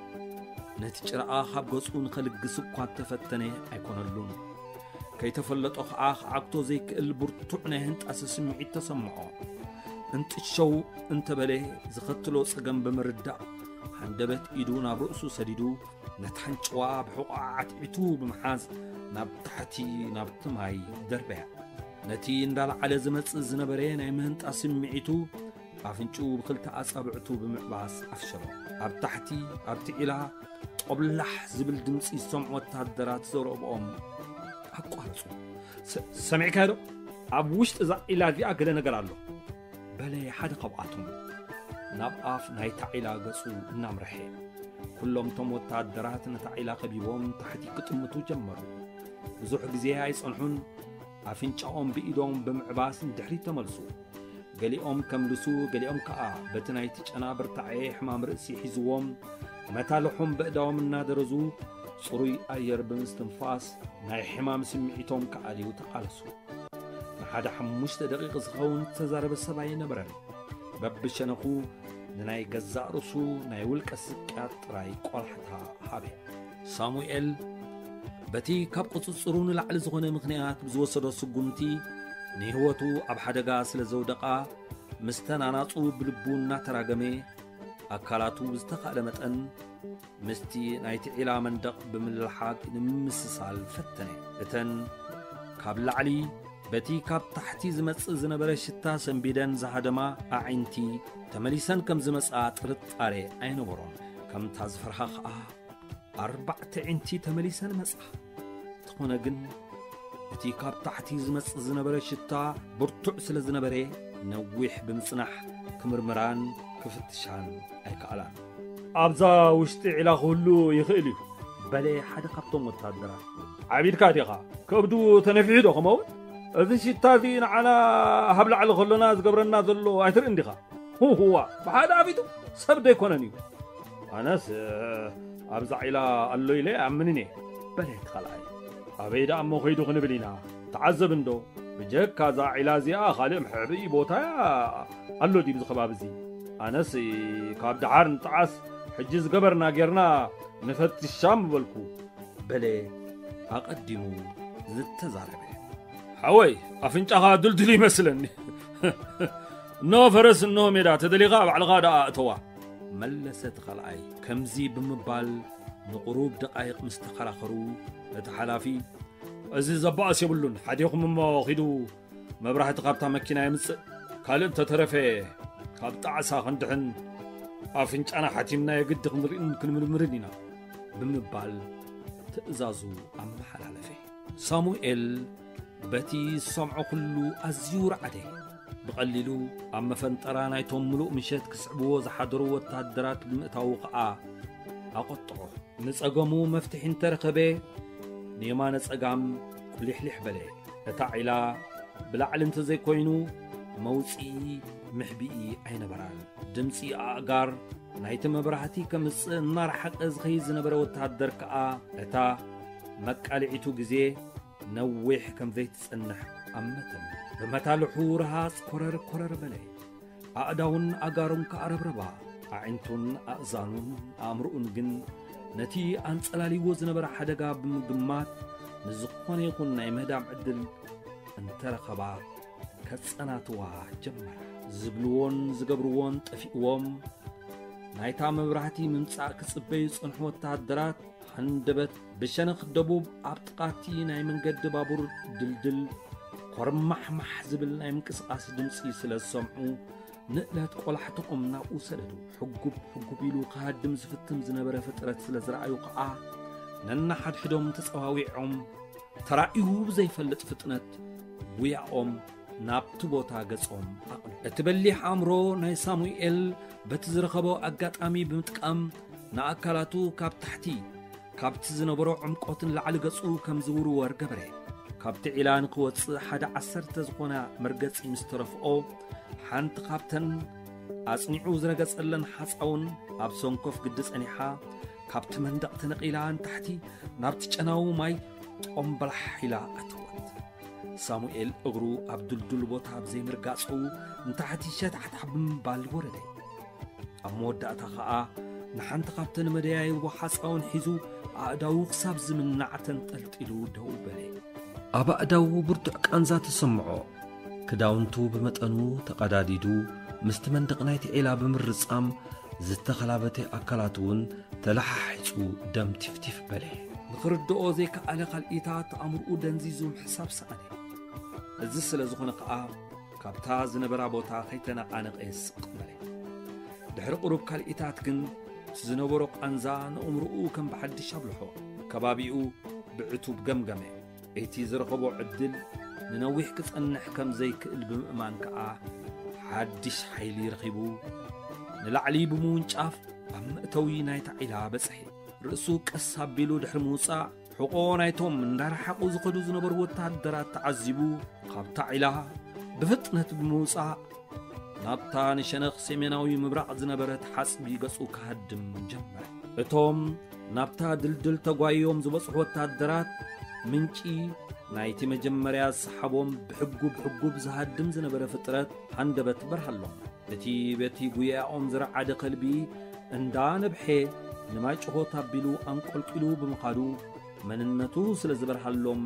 ነቲ ጭራኣ ካብ ገጹ ንኸልግስ እኳ እንተፈተነ ኣይኮነሉን። ከይተፈለጦ ኸዓ ክዓግቶ ዘይክእል ብርቱዕ ናይ ህንጣሰ ስምዒት ተሰምዖ። እንጥሸው እንተበለ ዝኸትሎ ጸገም ብምርዳእ ሃንደበት ኢዱ ናብ ርእሱ ሰዲዱ ነታ ኣንጭዋ ብሕቖኣ ዓትዒቱ ብምሓዝ ናብ ታሕቲ ናብቲ ማይ ደርበያ። ነቲ እንዳለዓለ ዝመጽእ ዝነበረ ናይ ምህንጣ ስምዒቱ ኣፍንጭኡ ብኽልተ ኣጻብዕቱ ብምዕባስ ኣፍሸሎ። ኣብ ታሕቲ ኣብቲ ዒላ ጦብላሕ ዝብል ድምጺ ዝሰምዑ ወተሃደራት ዘረብኦም ኣቋረጹ። "ሰ-፣ ሰሚዕካዮ ዶ? ኣብ ውሽጢ እዛ ዒላ እዚኣ ገለ ነገር ኣሎ" በለ ሓደ ካብኣቶም ናብ ኣፍ ናይታ ዒላ ገጹ እናምርሐ። ኩሎም እቶም ወተሃደራት ነታ ዒላ ከቢቦም ታሕቲ ክጥምቱ ጀመሩ። ብዙሕ ግዜ ኣይጸንሑን ኣፍንጫኦም ብኢዶም ብምዕባስ ንድሕሪት ተመልሱ። ገሊኦም ከምልሱ፣ ገሊኦም ከኣ በቲ ናይቲ ጨና ብርታዐ ሕማም ርእሲ ሒዝዎም መታልሖም በእዳዎም እናደረዙ ጽሩይ ኣየር ብምስትንፋስ ናይ ሕማም ስምዒቶም ክኣልዩ ተቓለሱ። ንሓደ ሓሙሽተ ደቂቕ ዝኸውን ዝተዛረበ ሰብ ኣይነበረን። በብሸነኹ ንናይ ገዛእ ርእሱ ናይ ውልቀ ስቅያት ጥራይ ቆላሕታ ሃበ። ሳሙኤል በቲ ካብ ቁጽጽሩ ንላዕሊ ዝኾነ ምኽንያት ብዝወሰዶ ስጉምቲ ንህይወቱ ኣብ ሓደጋ ስለ ዘውደቓ፣ ምስተን ኣናጹ ብልቡ እናተራገመ፣ ኣካላቱ ብዝተኻእለ መጠን ምስቲ ናይቲ ዒላ መንደቕ ብምልሓቕ ንምምስሳል ፈተነ። እተን ካብ ላዕሊ በቲ ካብ ታሕቲ ዝመጽእ ዝነበረ ሽታ ሰንቢደን ዝሃደማ ኣዒንቲ ተመሊሰን ከም ዝመጽኣ ጥርጣሬ ኣይነበሮን። ከምታ ዝፈርሃ ኸኣ ኣርባዕተ ኣዒንቲ ተመሊሰን መጻ። እንተኾነ ግን እቲ ካብ ታሕቲ ዝመጽእ ዝነበረ ሽታ ብርቱዕ ስለ ዝነበረ ነዊሕ ብምጽናሕ ክምርምራን ክፍትሻን ኣይከኣላን። "ኣብዛ ውሽጢ ዒላ ክህሉ ይኽእል እዩ" በለ ሓደ ካብቶም ወታደራት። "ዓቢድካ ዲኻ? ከብዱ ተነፊሑ ዶ ከመውን? እዚ ሽታ እዚ ንዓና ሃብ ላዕሊ ከሎና ዝገብረና ዘሎ ኣይትርእን ዲኻ? ህዋ፣ ብሓደ ኣፊቱ ሰብ ዶ ኣይኮነን እዩ?" "ኣነስ፣ እ፣ ኣብዛ ዒላ ኣሎ ኢለ ኣይኣምንን እየ" በለ እቲ ካልኣይ። "ኣበይ ደኣ እሞ ከይዱ ክንብል ኢና? ተዓዘብ እንዶ፣ ብጀካ እዛ ዒላ እዚኣ ካልእ መሕብኢ ቦታ ኣሎ ድዩ ኣብዚ ከባቢ እዚ? ኣነስ ካብ ደሓር ንጠዓስ፣ ሕጂ ዝገበርና ጌርና ንፈትሻ ምበልኩ" በለ ኣቐዲሙ ዝተዛረበ። "ሓወይ፣ ኣፍንጫኻ ድልድል ይመስለኒ። እነሆ ፈረስ፣ እነሆ ሜዳ፣ ተደሊኻ ባዕልኻ ደኣ እተዋ" መለሰ እቲ ካልኣይ። ከምዚ ብምባል ንቑሩብ ደቓይቕ ምስ ተኸራኸሩ፣ እቲ ሓላፊ "እዚ ዘባእስ የብሉን፣ ሓዲኹም እሞ ኺዱ መብራህቲ ካብታ መኪና የምጽእ፣ ካልእ እንተተረፈ ካብ ጣዕሳ ክንድሕን ኣፍንጫና ሓቲምና የግዲ ክንርእን ክንምርምርን ኢና ብምባል ትእዛዙ ኣመሓላለፈ። ሳሙኤል በቲ ዝሰምዖ ኩሉ ኣዝዩ ረዓደ። ብቐሊሉ ኣብ መፈንጠራ ናይቶም ምሉእ ምሸት ክስዕብዎ ዝሓደሩ ወተሃደራት ብምእታዉ ኸኣ ኣቖጥዖ። ንጸገሙ መፍትሒ እንተረኸበ ንየማነ ጸጋም ቁሊሕሊሕ በለ። እታ ዒላ ብላዕሊ እንተዘይኮይኑ መውጽኢ ምሕቢኢ ኣይነበራን። ድምጺ ኣእጋር ናይቲ መብራህቲ ከምጽእ እናረሓቐ ዝኸይድ ዝነበረ ወተሃደር ከኣ እታ መቃልዒቱ ግዜ ነዊሕ ከም ዘይትጸንሕ ኣመተን። ብመታልሑ ረሃጽ ኮረር ኮረር በለ። ኣእዳውን ኣጋሩን ከኣ ረብረባ። ኣዒንቱን ኣእዛኑን ኣእምሮኡን ግን ነቲ ኣንጸላልይዎ ዝነበረ ሓደጋ ብምግማት ንዝኾነ ይኹን ናይ ምህዳም ዕድል እንተረኸባ ከጸናትዋ ጀመራ። ዝብልዎን ዝገብርዎን ጠፊእዎም ናይታ መብራህቲ ምምጻእ ክጽበዩ ዝጸንሑ ወተሃደራት ሃንደበት ብሸነኽ ደቡብ ኣብ ጥቓቲ ናይ መንገዲ ባቡር ድልድል ኮርማሕማሕ ዝብል ናይ ምንቅስቓስ ድምጺ ስለ ዝሰምዑ ንእለት ቆላሕትኦም ናብኡ ሰደዱ። ሕጉብ ሕጉብ ኢሉ ክሃድም ዝፍትን ዝነበረ ፍጥረት ስለ ዝረኣዩ ከኣ ነንሓድሕዶም ተጸዋዊዖም ተራእዩ ብዘይፈልጥ ፍጥነት ጉያኦም ናብቲ ቦታ ገጾም ኣቕኑ። እቲ በሊሕ ኣእምሮ ናይ ሳሙኤል በቲ ዝረኸቦ ኣጋጣሚ ብምጥቃም ንኣካላቱ ካብ ታሕቲ ካብቲ ዝነበሮ ዕምቆት ንላዕሊ ገጹ ከም ዝውርወር ገበረ። ካብቲ ዒላ ንክወጽእ ሓደ ዓሰርተ ዝኾና መርገጺ ምስ ተረፍኦ ሓንቲ ካብተን ኣጽኒዑ ዝረገጸለን ሓጻውን ኣብ ሰንኮፍ ግዲ ጸኒሓ ካብቲ መንደቕ ተነቒላ ንታሕቲ ናብቲ ጨናዊ ማይ ጦምበላሕ ኢላ ኣተወት። ሳሙኤል እግሩ ኣብ ድልዱል ቦታ ብዘይምርጋጹ ንታሕቲ ሸታሕታሕ ብምባል ወረደ። ኣብ መወዳእታ ኸኣ ንሓንቲ ካብተን መደያይቦ ሓጻውን ሒዙ ኣእዳዉ ክሳብ ዝምናዕ ተንጠልጢሉ ደው በለ። ኣብ ኣእዳዉ ብርቱዕ ቃንዛ ተሰምዖ። ክዳውንቱ ብመጠኑ ተቐዳዲዱ ምስቲ መንደቕ ናይቲ ዒላ ብምርጻም ዝተኸላበተ ኣካላቱ እውን ተለሓሒጹ ደም ቲፍቲፍ በለ። ንኽርድኦ ዘይከኣለ ካልኢታት ኣእምርኡ ደንዚዙ ምሕሳብ ሰኣነ። እዚ ስለ ዝኾነ ከኣ ካብታ ዝነበራ ቦታ ከይተነቓነቐ ስቕ በለ። ድሕሪ ቁሩብ ካልኢታት ግን እቲ ዝነበሮ ቃንዛ ንእምርኡ ከም ብሓድሽ ኣብልሖ። ከባቢኡ ብዕቱብ ገምገመ። እቲ ዝረኸቦ ዕድል ንነዊሕ ክጸንሕ ከም ዘይክእል ብምእማን ከኣ ሓድሽ ሓይሊ ረኺቡ ንላዕሊ ብምውንጫፍ ኣብ መእተዊ ናይታ ዒላ በጽሐ። ርእሱ ቀስ ኣቢሉ ድሕሪ ምውጻእ ሕቖ ናይቶም እንዳረሓቑ ዝኸዱ ዝነበሩ ወተሃደራት ተዓዚቡ ካብታ ዒላ ብፍጥነት ብምውጻእ ናብታ ንሸነኽ ሰሜናዊ ምብራቕ ዝነበረት ሓጽቢ ገጹ ክሃድም ጀመረ። እቶም ናብታ ድልድል ተጓይዮም ዝበጽሑ ወተሃደራት ምንጪ ናይቲ መጀመርያ ዝሰሓቦም ብሕጉብ ሕጉብ ዝሃድም ዝነበረ ፍጥረት ሃንደበት በርሃሎም። እቲ በቲ ጉያኦም ዝረዓደ ከልቢ እንዳ ነብሐ ንማይ ጭሆት ኣቢሉ ኣንቆልቂሉ ብምኻዱ መንነቱ ስለ ዝበርሃሎም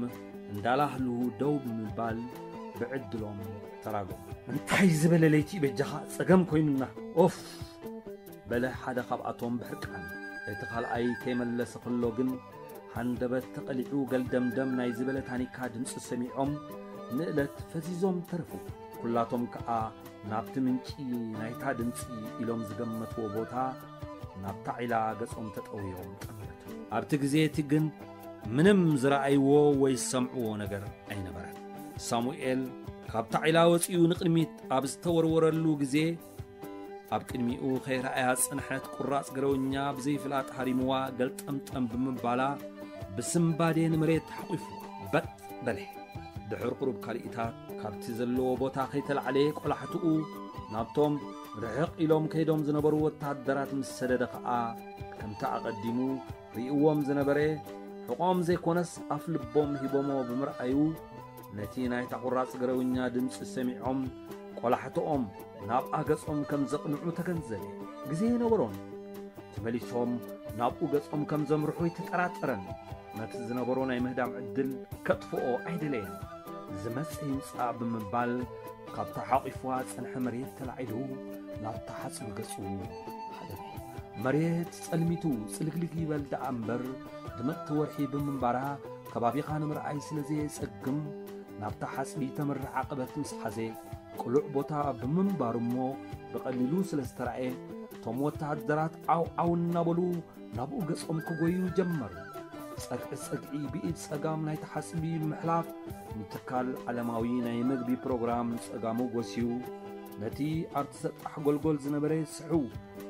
እንዳላህሉ ደው ብምባል ብዕድሎም ተራጎም። እንታይ ዝበለ ለይቲ በጃኻ ጸገም ኮይኑና ኦፍ በለ ሓደ ካብኣቶም ብሕርቃን። እቲ ካልኣይ ከይመለሰ ከሎ ግን ሃንደበት ተቐሊዑ ገልደምደም ናይ ዝበለ ታኒካ ድምፂ ሰሚዖም ንእለት ፈዚዞም ተረፉ። ኩላቶም ከኣ ናብቲ ምንጪ ናይታ ድምፂ ኢሎም ዝገመትዎ ቦታ ናብታ ዒላ ገጾም ተጠውዮም ጠመቱ። ኣብቲ ግዜ እቲ ግን ምንም ዝረኣይዎ ወይ ዝሰምዕዎ ነገር ኣይነበረን። ሳሙኤል ካብታ ዒላ ወፂኡ ንቕድሚት ኣብ ዝተወርወረሉ ግዜ ኣብ ቅድሚኡ ከይረኣያ ዝጸንሐት ቁራጽ ገረውኛ ብዘይፍላጥ ሃሪምዋ ገልጠምጠም ብምባላ ብስምባዴ ንመሬት ሓቑፉ በጥ በለ። ድሕር ቁሩብ ካልኢታት ካብቲ ዘለዎ ቦታ ከይተላዕለ ቆላሕትኡ ናብቶም ርሕቕ ኢሎም ከይዶም ዝነበሩ ወተሃደራት ምስ ሰደደ ኸኣ ከምቲ ኣቐዲሙ ርእይዎም ዝነበረ ሕቖም ዘይኮነስ ኣፍ ልቦም ሂቦሞ ብምርኣዩ ነቲ ናይታ ቁራጽ ገረውኛ ድምጺ ሰሚዖም ቆላሕትኦም ናብኣ ገጾም ከም ዘቕንዑ ተገንዘበ። ግዜ ኣይነበሮን። ተመሊሶም ናብኡ ገጾም ከም ዘምርሑ ኣይተጠራጠረን። ነቲ ዝነበሮ ናይ ምህዳም ዕድል ከጥፍኦ ኣይደለየን። ዝመጽእ ይምጻእ ብምባል ካብታ ሓቒፍዋ ዝጸንሐ መሬት ተላዒሉ ናብታ ሓጽቢ ገጹ ሃደመ። መሬት ጸልሚቱ ጽልግልግ ይበል ደኣ እምበር ድምቕቲ ወርሒ ብምንባራ ከባቢኻ ንምርኣይ ስለ ዘየጸግም ናብታ ሓጽቢ ተምርሕ ዓቐበት ምስ ሓዘ ቅሉዕ ቦታ ብምንባሩ እሞ ብቐሊሉ ስለ ዝተራእየ፣ እቶም ወተሃደራት ዓው ዓው እናበሉ ናብኡ ገጾም ክጎዩ ጀመሩ። ጸግዒ ጸግዒ ብኢድ ጸጋም ናይቲ ሓጽቢ ብምሕላፍ፣ ንትካል ዓለማዊ ናይ መግቢ ፕሮግራም ንጸጋሙ ጎስዩ፣ ነቲ ኣብቲ ሰጣሕ ጎልጎል ዝነበረ ስሕው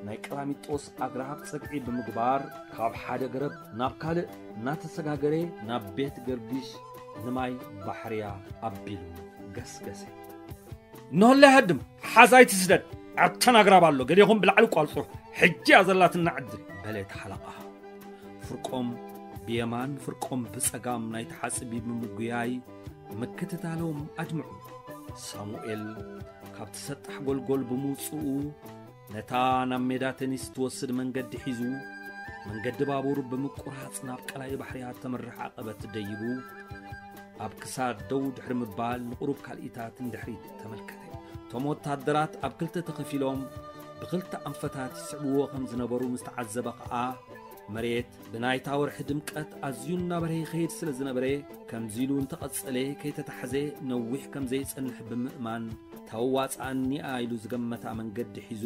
ናይ ቀላሚጦስ ኣግራብ ጸግዒ ብምግባር፣ ካብ ሓደ ገረብ ናብ ካልእ እናተሰጋገረ ናብ ቤት ገርጊሽ ንማይ ባሕርያ ኣቢሉ ገስገሰ። እንሆለይ ሃድም፣ ሓዝ ኣይትስደድ፣ ኣብተን ኣግራብ ኣሎ፣ ገሌኹም ብላዕሊ ቋልጹ፣ ሕጂ እያ ዘላትና ዕድል፣ በለ እቲ ሓለቓ። ፍርቆም ብየማን ፍርቆም ብጸጋም ናይቲ ሓጽቢ ብምጉያይ ምክትታሎም ኣድምዑ። ሳሙኤል ካብቲ ሰጣሕ ጎልጎል ብምውጽኡ፣ ነታ ናብ ሜዳ ቴኒስ ትወስድ መንገዲ ሒዙ፣ መንገዲ ባቡር ብምቁራጽ ናብ ቀላይ ባሕርያ ተምርሕ ዓቐበት ደይቡ፣ ኣብ ክሳድ ደው ድሕሪ ምባል ንቑሩብ ካልኢታት ንድሕሪት ተመልከተ። እቶም ወታደራት ኣብ ክልተ ተኸፊሎም ብኽልተ ኣንፈታት ይስዕብዎ ከም ዝነበሩ ምስ ተዓዘበ ኸኣ፣ መሬት ብናይታ ወርሒ ድምቀት ኣዝዩ እናበርሀ ይኸይድ ስለ ዝነበረ፣ ከምዚ ኢሉ እንተቐጸለ ከይተታሕዘ ነዊሕ ከም ዘይጸንሕ ብምእማን፣ ተዋጽኣኒ'ያ ኢሉ ዝገመታ መንገዲ ሒዙ፣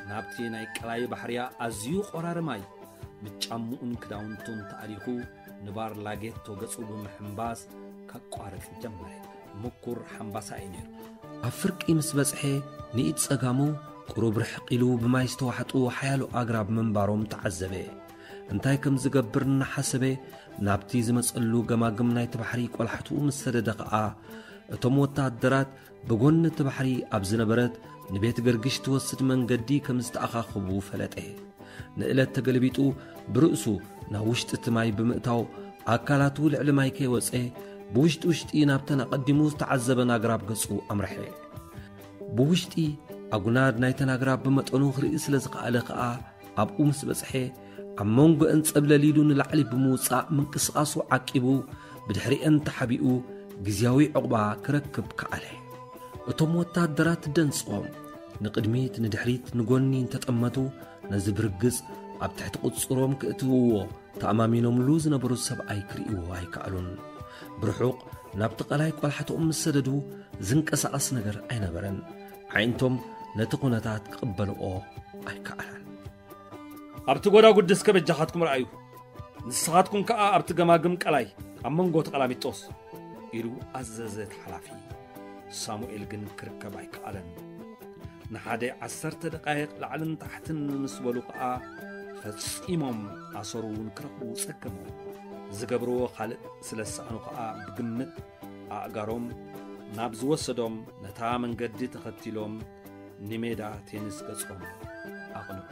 ናብቲ ናይ ቀላይ ባሕርያ ኣዝዩ ቆራሪ ማይ፣ ብጫምኡን ክዳውንቱን ተኣሊኹ፣ ንባር ላጌቶ ገጹ ብምሕምባስ ከቋርጽ ጀመረ። ምኩር ሓምባሳ እዩ ነይሩ። ኣብ ፍርቂ ምስ በጽሐ፣ ንኢድ ጸጋሙ ቁሩብ ርሕቕ ኢሉ ብማይ ዝተዋሕጡ ሓያሎ ኣግራብ ምንባሮም ተዓዘበ። እንታይ ከም ዝገብር እናሓሰበ፣ ናብቲ ዝመጸሉ ገማግም ናይቲ ባሕሪ ቆላሕትኡ ምስ ሰደደ ኸኣ፣ እቶም ወተሃደራት ብጎኒ እቲ ባሕሪ ኣብ ዝነበረት ንቤት ገርግሽ ትወስድ መንገዲ ከም ዝተኣኻኸቡ ፈለጠ። ንእለት ተገልቢጡ ብርእሱ ናብ ውሽጢ እቲ ማይ ብምእታው፣ ኣካላቱ ልዕሊ ማይ ከይወጸ፣ ብውሽጢ ውሽጢ ናብተን ኣቐዲሙ ዝተዓዘበን ኣግራብ ገጹ ኣምርሐ። ብውሽጢ ኣጉናድ ናይተን ኣግራብ ብመጠኑ ክርኢ ስለ ዝኸኣለ ከኣ፣ ኣብኡ ምስ በጽሐ፣ ኣብ መንጎአን ጸብለል ኢሉ ንላዕሊ ብምውጻእ ምንቅስቓሱ ዓቂቡ፣ ብድሕሪአን ተሓቢኡ ግዝያዊ ዕቑባ ክረክብ ከኣለ። እቶም ወታደራት ደንጽቖም ንቕድሚት ንድሕሪት ንጎኒ እንተጠመቱ፣ ነዚ ብርግጽ ኣብ ትሕቲ ቁጽሮም ክእትውዎ ተኣማሚኖምሉ ዝነበሩ ሰብኣይ ክርእይዎ ኣይከኣሉን። ብርሑቕ ናብቲ ቀላይ ቆላሕትኦም ምስ ሰደዱ ዝንቀሳቐስ ነገር ኣይነበረን። ኣዒንቶም ነቲ ኩነታት ክቕበልኦ ኣይከኣላን። ኣብቲ ጎዳጉዲ እስከ በጃኻትኩም ረኣዩ፣ ንስኻትኩም ከኣ ኣብቲ ገማግም ቀላይ ኣብ መንጎ ተቐላሚጦስ ኢሉ ኣዘዘ እቲ ሓላፊ። ሳሙኤል ግን ክርከብ ኣይከኣለን። ንሓደ ዓሰርተ ደቃይቕ ላዕልን ታሕትን ምስ በሉ ከኣ ፈጺሞም ኣሰሩ እውን ክረኽቡ ጸገሞም። ዝገብርዎ ካልእ ስለ ዝሰኣኑ ከኣ ብግምት ኣእጋሮም ናብ ዝወሰዶም ነታ መንገዲ ተኸቲሎም ንሜዳ ቴኒስ ገጾም ኣቕንዑ።